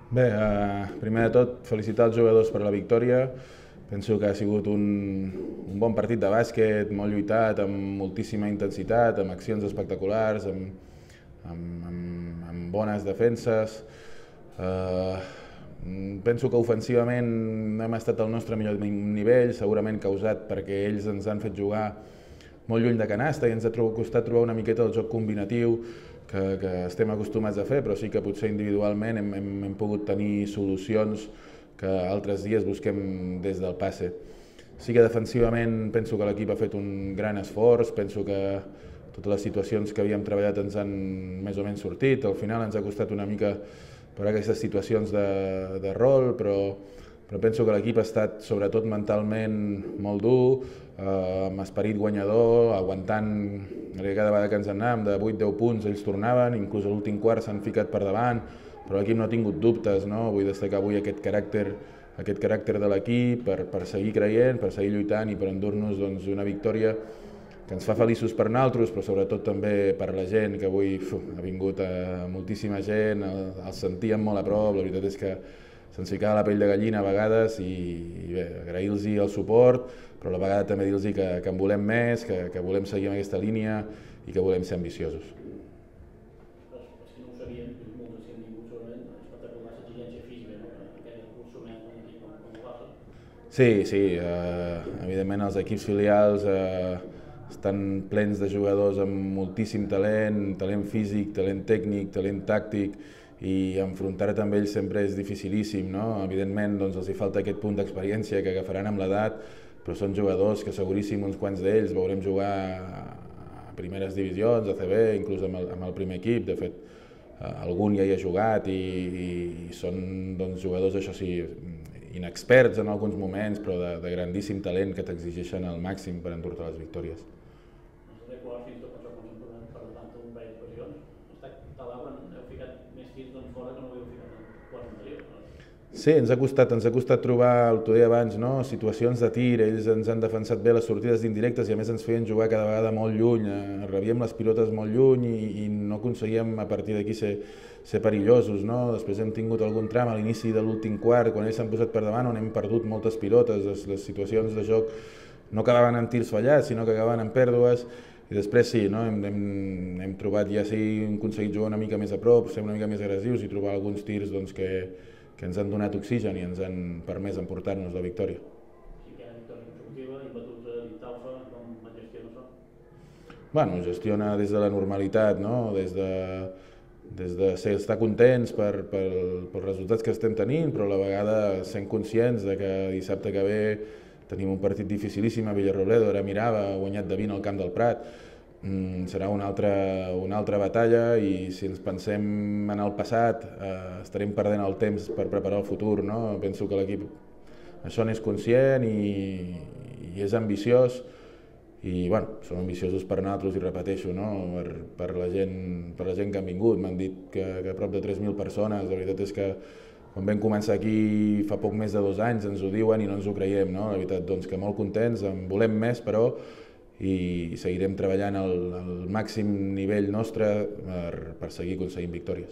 Bé, primer de tot, felicitar els jugadors per la victòria. Penso que ha sigut un bon partit de bàsquet, molt lluitat, amb moltíssima intensitat, amb accions espectaculars, amb bones defenses. Eh, Penso que ofensivament no hem estat al nostre millor nivell, segurament causat perquè ells ens han fet jugar molt lluny de canasta i ens ha costat trobar una miqueta el joc combinatiu que estem acostumats a fer, però sí que potser individualment hem pogut tenir solucions que altres dies busquem des del passe. Sí que defensivament penso que l'equip ha fet un gran esforç, penso que totes les situacions que havíem treballat ens han més o menys sortit, al final ens ha costat una mica per aquestes situacions de rol, però penso que l'equip ha estat sobretot mentalment molt dur, amb esperit guanyador, aguantant cada vegada que ens en anàvem de 8-10 punts ells tornaven, inclús a l'últim quart s'han ficat per davant, però l'equip no ha tingut dubtes, no? Vull destacar avui aquest caràcter de l'equip per seguir creient, per seguir lluitant i per endur-nos doncs, una victòria que ens fa feliços per nosaltres, però sobretot també per la gent, que avui ha vingut moltíssima gent, el sentíem molt a prop, la veritat és que se'ns ficava la pell de gallina a vegades i bé, agrair-los el suport, però a la vegada també dir-los que en volem més, que volem seguir amb aquesta línia i que volem ser ambiciosos. Els que no ho sabien, molts si han vingut segurament, espectacular l'exigència física, no? Que us sotmet un equip com el Barça. Sí, evidentment els equips filials estan plens de jugadors amb moltíssim talent físic, talent tècnic, talent tàctic, i enfrontar-te amb ells sempre és dificilíssim, no? Evidentment doncs, els hi falta aquest punt d'experiència que agafaran amb l'edat, però són jugadors que seguríssim uns quants d'ells veurem jugar a primeres divisions, a CB, inclús amb el primer equip. De fet, algun ja hi ha jugat i són doncs, jugadors, això sí, inexperts en alguns moments, però de grandíssim talent que t'exigeixen al màxim per endur-te les victòries. Els darrers quarts, fins i tot per això, quan s'han tornat per davant un parell d'ocasions, heu ficat més tirs d'on fora que no ho heu ficat en quarts anteriors. Sí, ens ha costat trobar, el que deia abans, no? Situacions de tir, ells ens han defensat bé les sortides d'indirectes i a més ens feien jugar cada vegada molt lluny, rebíem les pilotes molt lluny i no aconseguíem a partir d'aquí ser perillosos, no? Després hem tingut algun tram a l'inici de l'últim quart, quan ells s'han posat per davant, on hem perdut moltes pilotes, les situacions de joc no acabaven en tirs fallats, sinó que acabaven en pèrdues, i després sí, no? hem trobat, ja sí, hem aconseguit jugar una mica més a prop, ser una mica més agressius i trobar alguns tirs doncs, que ens han donat oxigen i ens han permès emportar-nos la victòria. Sí que hi ha victòria consecutiva, imbatuts a Vitaufa, com gestiona això? Bueno, gestiona des de la normalitat, no? Des de estar contents pels resultats que estem tenint, però a la vegada sent conscients de que dissabte que ve tenim un partit dificilíssim a Villarrobledo, ara Mirava ha guanyat de 20 al Camp del Prat, serà una altra batalla i si ens pensem en el passat estarem perdent el temps per preparar el futur, no? Penso que l'equip això n'és conscient i és ambiciós i bueno, som ambiciosos per nosaltres i repeteixo, no? per la gent que han vingut, m'han dit que prop de 3.000 persones, la veritat és que quan vam començar aquí fa poc més de 2 anys ens ho diuen i no ens ho creiem, no? La veritat doncs que molt contents, en volem més però i seguirem treballant al màxim nivell nostre per seguir aconseguint victòries.